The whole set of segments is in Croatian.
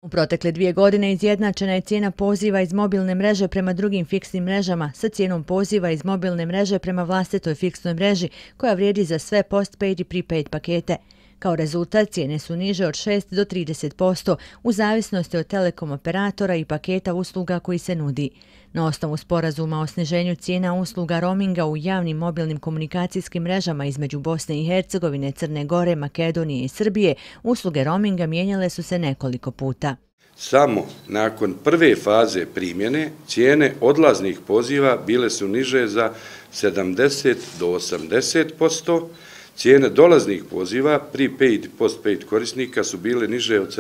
U protekle 2 godine izjednačena je cijena poziva iz mobilne mreže prema drugim fiksnim mrežama sa cijenom poziva iz mobilne mreže prema vlastitoj fiksnoj mreži koja vrijedi za sve postpaid i prepaid pakete. Kao rezultat cijene su niže od 6 do 30% u zavisnosti od telekom operatora i paketa usluga koji se nudi. Na osnovu sporazuma o sniženju cijena usluga roaminga u javnim mobilnim komunikacijskim mrežama između Bosne i Hercegovine, Crne Gore, Makedonije i Srbije, usluge roaminga mijenjale su se nekoliko puta. Samo nakon prve faze primjene cijene odlaznih poziva bile su niže za 70 do 80%, cijene dolaznih poziva prepaid i postpaid korisnika su bile niže od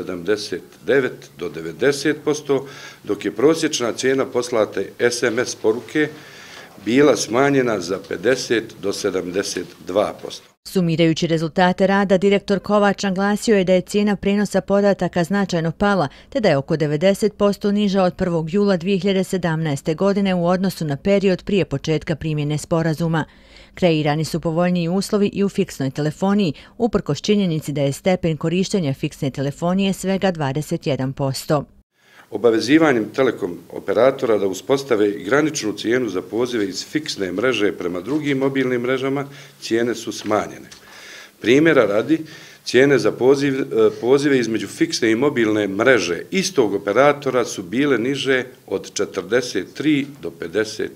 79 do 90%, dok je prosječna cijena poslate SMS poruke bila smanjena za 50 do 72%. Sumirajući rezultate rada, direktor Kovač naglasio je da je cijena prenosa podataka značajno pala, te da je oko 90% niža od 1. jula 2017. godine u odnosu na period prije početka primjene sporazuma. Kreirani su povoljniji uslovi i u fiksnoj telefoniji, uprkos činjenici da je stepen korištenja fiksne telefonije svega 21%. Obavezivanjem telekom operatora da uspostave graničnu cijenu za pozive iz fiksne mreže prema drugim mobilnim mrežama, cijene su smanjene. Primjera radi, cijene za pozive između fiksne i mobilne mreže istog operatora su bile niže od 43 do 52%.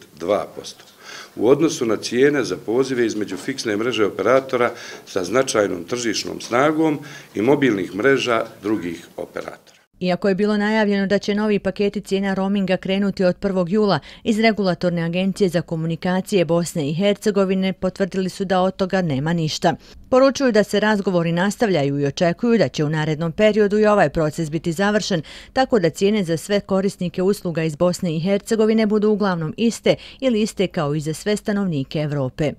U odnosu na cijene za pozive između fiksne mreže operatora sa značajnom tržišnom snagom i mobilnih mreža drugih operatora. Iako je bilo najavljeno da će novi paketi cijena roaminga krenuti od 1. jula, iz Regulatorne agencije za komunikacije Bosne i Hercegovine potvrdili su da od toga nema ništa. Poručuju da se razgovori nastavljaju i očekuju da će u narednom periodu i ovaj proces biti završen, tako da cijene za sve korisnike usluga iz Bosne i Hercegovine budu uglavnom iste ili iste kao i za sve stanovnike Evrope.